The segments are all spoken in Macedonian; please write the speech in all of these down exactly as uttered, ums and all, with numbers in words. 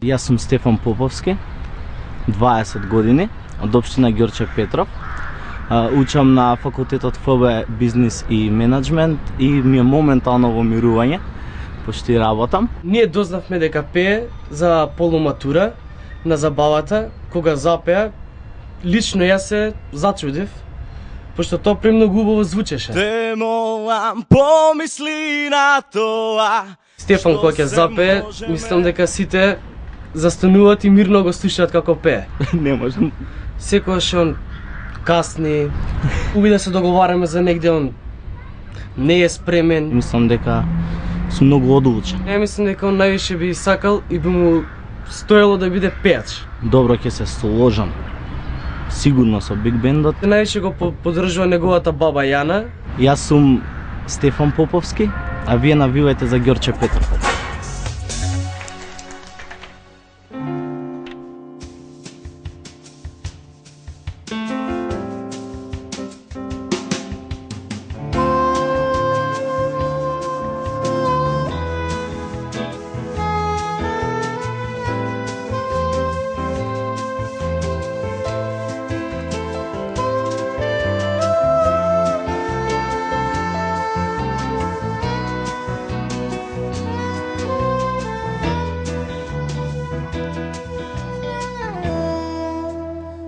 Јас сум Стефан Поповски, дваесет години, од општина Ѓорче Петров. Учам на факултетот Ф Б Бизнис и менеджмент и ми е моментално во мирување, пошти работам. Ние дознавме дека пее за полуматура на забавата, кога запеа, лично јас се зачудив, пошто тоа премногу убаво звучеше. Те молам, помисли на тоа. Стефан кога ќе запее, мислам дека сите застануваат и мирно го слушаат како пее. Не можам. Секогаш он касни, уби да се договараме за негде, он не е спремен. Мислам дека сум многу одлучен. Не мислам дека он највише би сакал и би му стоело да биде пејач. Добро ќе се сложам. Сигурно со биг бендот. Највише го поддржува неговата баба Јана. Јас сум Стефан Поповски, а вие навивајте за Ѓорче Петров.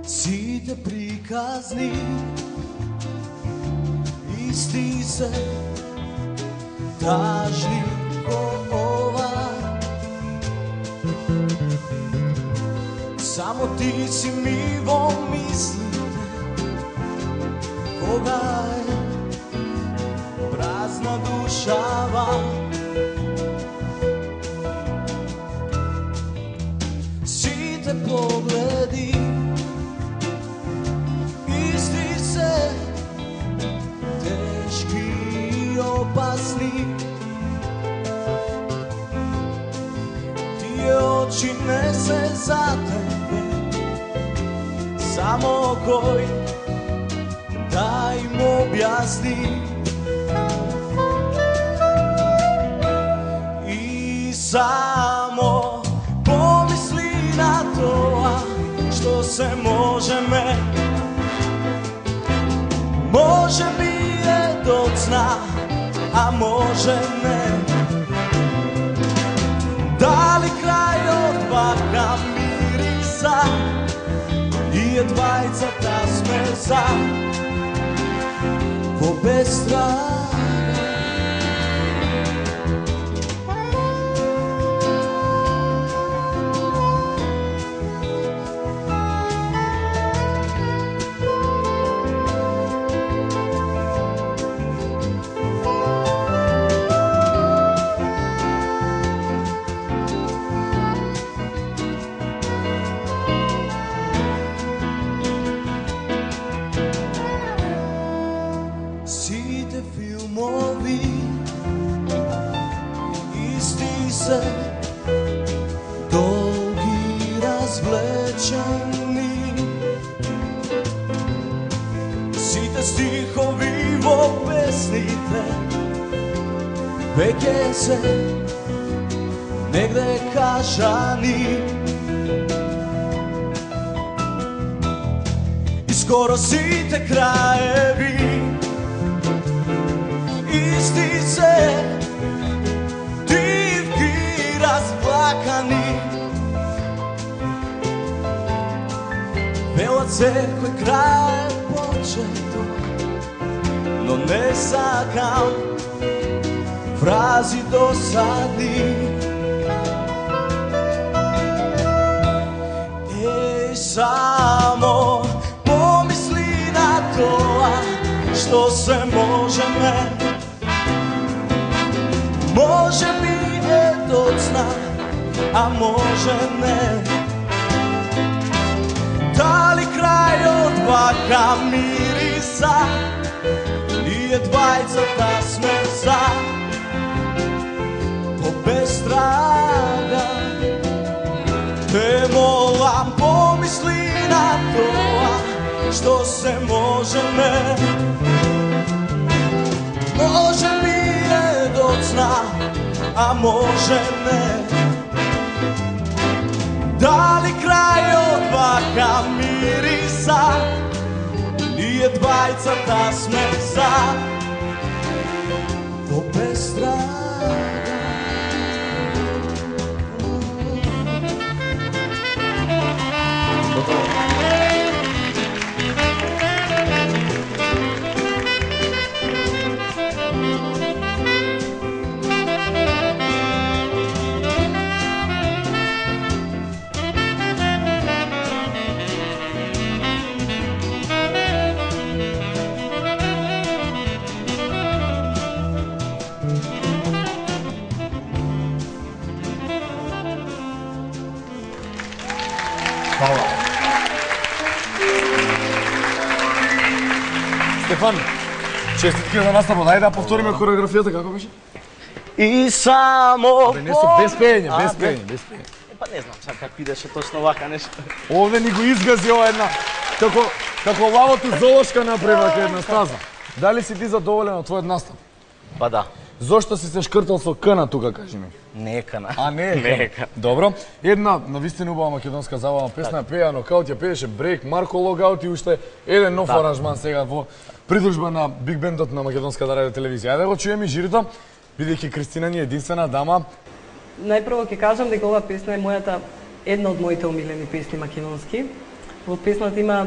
Сите приказни исти се, тажни ко ова. Само ти си ми во мислите, кога е празна душава. Сите погледи опасни, тие очи не се за тебе, само кој да им објасни. И само помисли на тоа што се можеме, може би е доцна, а може не. Дали крајот вака мириса и едвајцата сме за во безтрага. Сите филмови исти се, долги развлечени. Сите стихови во песните веќе се негде кажани. И скоро сите краеви исти се, дивки разплакани. Велат секој крај почеток, но не сакам фрази досадни. Еј, само помисли на тоа што се можеме, може би е доцна, а може не. Дали крајот вака мириса и едвајцата сме за по безтрага. Те молам, помисли на тоа што се можеме, може би е доцна, а може не. Дали крајот вака мириса, ние двајцата сме за во безстрада. Стефан, честитки за наставот. Ајде да повториме хореографијата како беше? И само Бе, не со без пење, без пење, без пење. Па не знам сега како идеше точно вака нешто. Овде ни го изгази ова една како како лавото золошка направи вака една стаза. Дали си ти задоволен од твојот настап? Па да. Зошто си се шкртал со кна тука, кажи ми? Нека на. А не, нека. Добро. Една навистина убава македонска забавна песна, пеја нокаут, ја пееше Брейк, Марко Логаут и уште еден нов Да. аранжман сега во придружба на Биг Бендот на македонската радио телевизија. Ајде да го чуеме и жирито, бидејќи Кристина ни е единствена дама. Најпрво ќе кажам дека оваа песна е мојата една од моите омилени песни македонски. Во песната има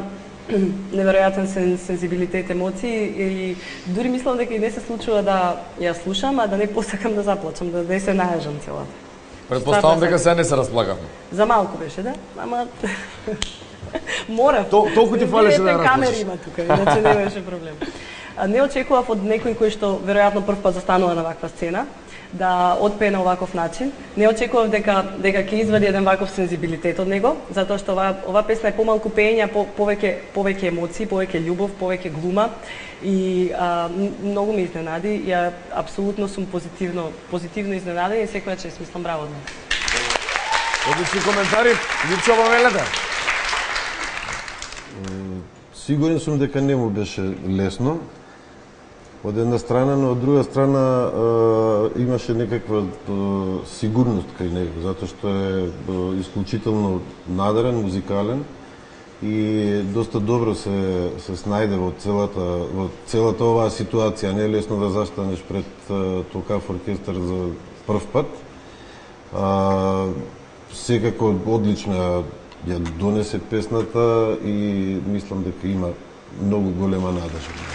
неверојатен сен, сензибилитет, емоции и дури мислам дека и не се случува да ја слушам, а да не посакам да заплачам, да не се најажам целата. Предпоставам дека се не се расплакавме. За малку беше, да? Ама мора. Тол- толку ти фалеше да ја расплачеш. камери има тука, иначе не беше проблем. А, не очекував од некој кој што веројатно прв пат застанува на ваква сцена да отпее на оваков начин. Не очекував дека дека ќе извади еден ваков сензибилитет од него, затоа што ова ова песна е помалку пеење, по, повеќе повеќе емоции, повеќе љубов, повеќе глума и а, м- многу ме изненади. Ја апсолутно сум позитивно позитивно изненадена и секоја чест, мислам браво. Одлични коментари, Липчо Бавелете. Сигурен сум дека не му беше лесно. Од една страна, но од друга страна е, имаше некаква е, сигурност кај него, затоа што е, е исклучително надарен, музикален и доста добро се се снајде во целата во целата оваа ситуација. Не е лесно да застанеш пред е, толкав оркестар за прв пат. А, секако одлична ја донесе песната и мислам дека има многу голема надежда.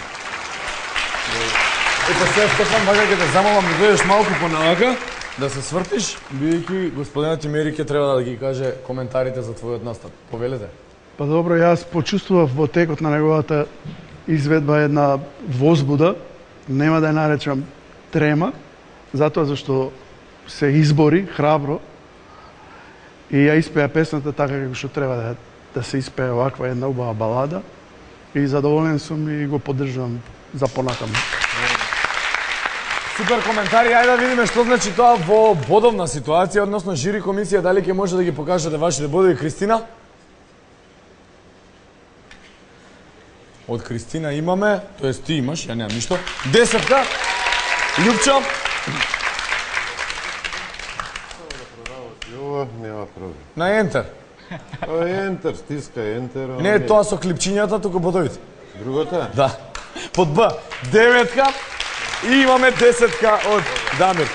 Ето сега, Стефан, вака ќе те замолам да дојдеш малку поналака, да се свртиш, бидејќи господинот Имери ќе треба да ги каже коментарите за твојот настап. Повелете. Па добро, јас почувствував во текот на неговата изведба една возбуда, нема да ја наречам трема, затоа зашто се избори храбро и ја испеа песната така како што треба да, да се испее оваква една убава балада и задоволен сум и го поддржувам за понатаму. Супер коментари, ајде да видиме што значи тоа во бодовна ситуација, односно жири комисија, дали ќе може да ги покажете вашите бодови. Кристина? Од Кристина имаме, тоест ти имаш, ја немам ништо. Десетка. Љупчо? Ова нема проблем. На ентер. Ова е ентер, стиска ентер. ова Не е тоа со клипчињата, туку бодовите. Другото е? Да. Под Б. Деветка. И имаме десетка од Дамир.